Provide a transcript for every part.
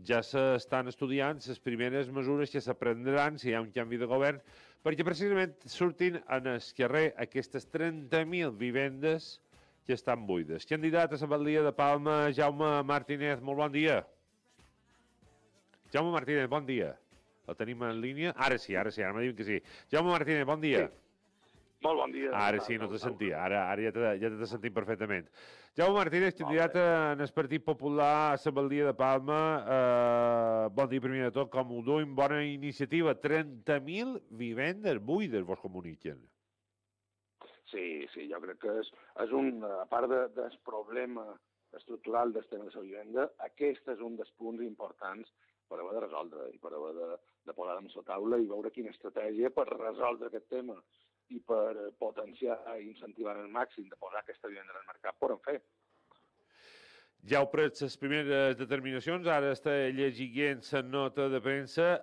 ja s'estan estudiant les primeres mesures que s'aprendran si hi ha un canvi de govern, perquè precisament surtin en el carrer aquestes 30.000 vivendes que estan buides. Candidat a la Batllia de Palma, Jaume Martínez, molt bon dia. Jaume Martínez, bon dia. El tenim en línia? Ara sí, ara me diuen que sí. Jaume Martínez, bon dia. Sí. Molt bon dia. Ara sí, no te sentia. Ara ja te sentim perfectament. Jaume Martínez, candidat en el Partit Popular a la Batllia de Palma. Bon dia, primer de tot, com ho duim? Bona iniciativa. 30.000 vivendes buides, vos comuniquen. Sí, jo crec que és un, a part del problema estructural del tema de la vivenda, aquest és un dels punts importants per haver de resoldre i per haver de posar en la taula i veure quina estratègia per resoldre aquest tema i per potenciar i incentivar al màxim de posar aquesta vivenda en el mercat, podem fer. Ja heu pres les primeres determinacions, ara està llegint la nota de premsa.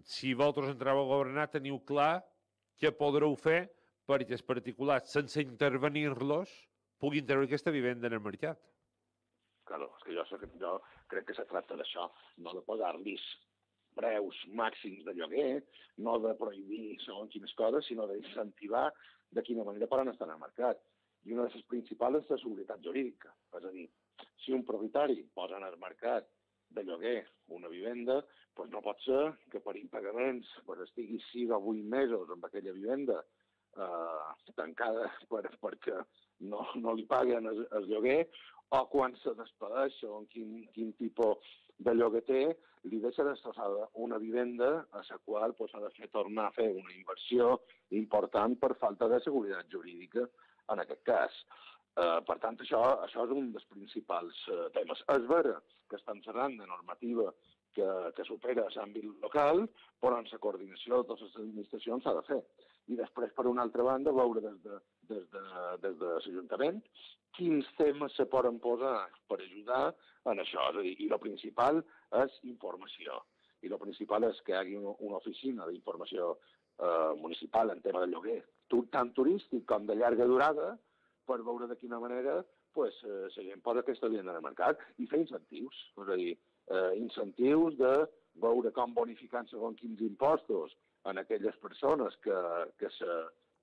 Si vosaltres entreu a governar, teniu clar què podreu fer perquè els particulars, sense intervenir-los, puguin treure aquesta vivenda en el mercat. Claro, és que jo crec que se tracta d'això, no de posar-los preus màxims de lloguer, no de prohibir segons quines coses, sinó d'incentivar de quina manera poden estar en el mercat. I una de les principals és la seguretat jurídica. És a dir, si un propietari posa en el mercat de lloguer una vivenda, doncs no pot ser que per impagaments estigui 6 o 8 mesos amb aquella vivenda tancada perquè no li paguen el lloguer, o quan se despedeix o quin tipus de lloguer té, li deixa destrossada una vivenda a la qual s'ha de fer tornar a fer una inversió important per falta de seguretat jurídica en aquest cas. Per tant, això és un dels principals temes. És vera que estan cerrant de normativa que supera l'àmbit local, però en la coordinació de totes les administracions s'ha de fer. I després, per una altra banda, veure des de l'Ajuntament quins temes se poden posar per ajudar en això. És a dir, i el principal és informació. I el principal és que hi hagi una oficina d'informació municipal en tema de lloguer, tant turístic com de llarga durada, per veure de quina manera la gent posa aquesta vivenda en el mercat i fer incentius. És a dir, incentius de veure com bonificant segons quins impostos en aquelles persones que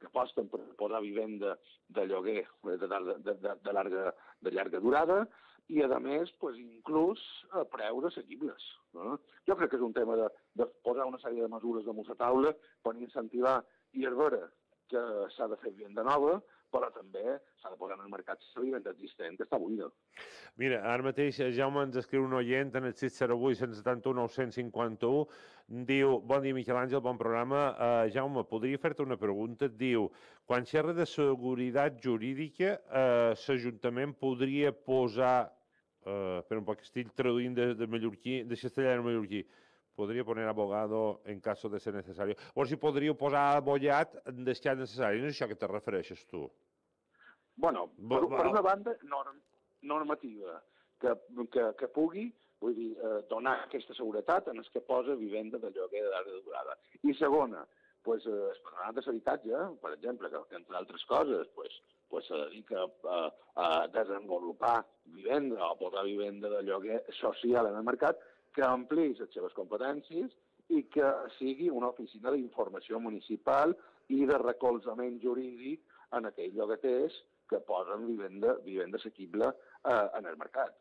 aposten per posar vivenda de lloguer de llarga durada i, a més, inclús preus assequibles. Jo crec que és un tema de posar una sèrie de mesures damunt la taula per incentivar i és vera que s'ha de fer vivenda nova, però també s'ha de posar en el mercat la vivenda existent, que està buida. Mira, ara mateix Jaume ens escriu un oient en el 608-171-951, diu, bon dia Miquel Àngel, bon programa. Jaume, podria fer-te una pregunta? Diu, quan xerra de seguretat jurídica, l'Ajuntament podria posar, per un poc estic traduint de mallorquí, de castellà a mallorquí, podria poner abogado en caso de ser necesario. O si podríeu posar abollat des que és necessari. No és això que te refereixes tu? Bueno, per una banda, normativa, que pugui, vull dir, donar aquesta seguretat en els que posa vivenda de lloguer de llarga durada. I segona, el patronat de l'habitatge, per exemple, que entre altres coses, se dedica a desenvolupar vivenda o posar vivenda de lloguer social en el mercat, que ampliï les seves competències i que sigui una oficina d'informació municipal i de recolzament jurídic en aquells llogaters que posen vivenda assequible en el mercat.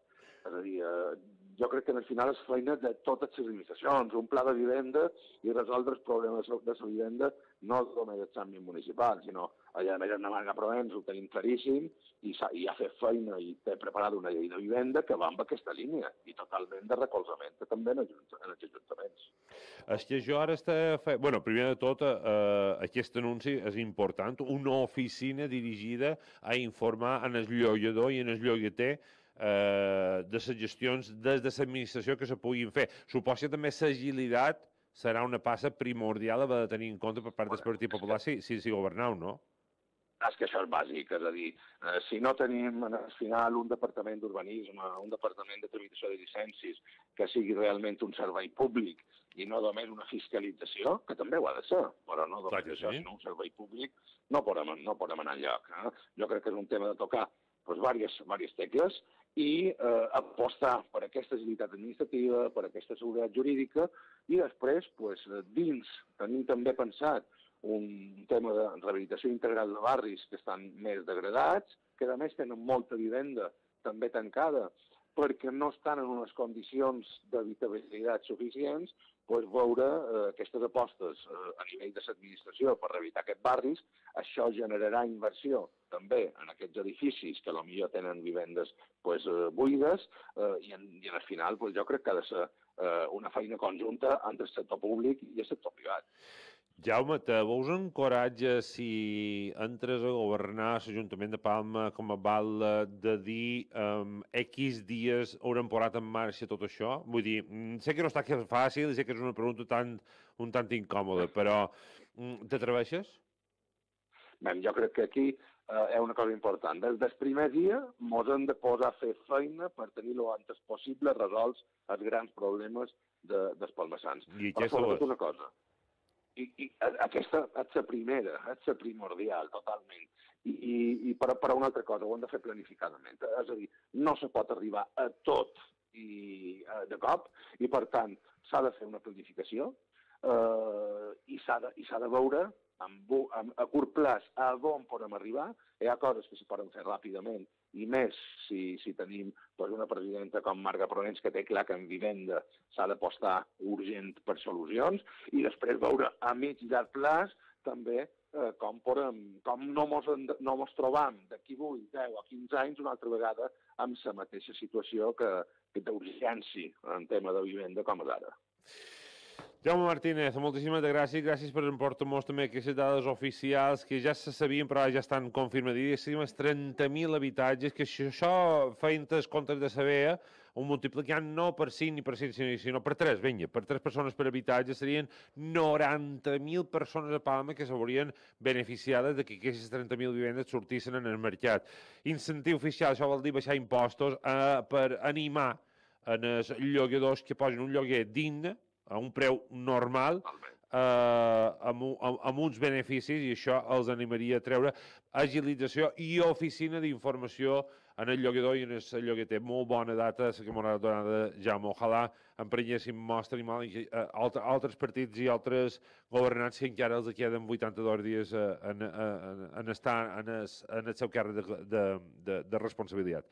És a dir, jo crec que al final és feina de totes les administracions, un pla de vivenda i resoldre els problemes de la vivenda no només dels àmbits municipals, sinó allà a més en Navarra Provence ho tenim claríssim i ha fet feina i té preparada una llei de vivenda que va amb aquesta línia i totalment de recolzament també en els ajuntaments. És que jo ara Bueno, primer de tot, aquest anunci és important, una oficina dirigida a informar en el llogador i en el llogater de les gestions des de l'administració que se puguin fer. Suposo que també l'agilitat serà una passa primordial a de tenir en compte per part del Partit Popular si governeu, no? És que això és bàsic, és a dir, si no tenim al final un departament d'urbanisme, un departament de tramitació de llicències que sigui realment un servei públic i no només una fiscalització, que també ho ha de ser, però no només això, sinó un servei públic, no podem anar enlloc. Jo crec que és un tema de tocar diverses tecles i apostar per aquesta agilitat administrativa, per aquesta seguretat jurídica, i després, dins, tenim també pensat un tema de rehabilitació integral de barris que estan més degradats, que a més tenen molta vivenda també tancada, perquè no estan en unes condicions d'habitabilitat suficients, veure aquestes apostes a nivell de l'administració per rehabilitar aquests barris. Això generarà inversió també en aquests edificis que potser tenen vivendes buides, i al final jo crec que ha de ser una feina conjunta entre el sector públic i el sector privat. Jaume, te veus encoratge si entres a governar l'Ajuntament de Palma com a val de dir X dies haurem posat en marxa tot això? Vull dir, sé que no està fàcil, sé que és una pregunta un tant incòmoda, però t'atreveixes? Bé, jo crec que aquí és una cosa important. Des del primer dia ens hem de posar a fer feina per tenir el antes possible resolts els grans problemes dels palmesans. Però sobretot una cosa, i aquesta és la primera, és la primordial, totalment. I per una altra cosa, ho hem de fer planificadament. És a dir, no se pot arribar a tot de cop, i per tant s'ha de fer una planificació i s'ha de veure a curt plaç a on podem arribar. Hi ha coses que se poden fer ràpidament, i més si tenim una presidenta com Marga Provence que té clar que en vivenda s'ha d'apostar urgent per solucions, i després veure a mig i llarg plaç també com no ens trobam d'aquí 8, 10 o 15 anys una altra vegada amb la mateixa situació que d'urgència en tema de vivenda com és ara. Jaume Martínez, moltíssimes gràcies. Gràcies per emportar-nos també aquestes dades oficials que ja se sabien però ja estan confirmadíssimes. 30.000 habitatges, que això feien els comptes de saber, ho multiplicant no per 5 ni per 5, sinó per 3, vinga, per 3 persones per habitatge, serien 90.000 persones a Palma que s'haurien beneficiades de que aquestes 30.000 vivendes sortissin en el mercat. Incentiu fiscal, això vol dir baixar impostos per animar els lloguadors que posin un lloguer digne, a un preu normal, amb uns beneficis, i això els animaria a treure agilització i oficina d'informació en el lloguador i en el llogueter. Molt bona data, la que m'ha donada Jaume. Ojalà emprenyéssim mostra i altres partits i altres governants que encara els queden 82 dies en estar en el seu càrrec de responsabilitat.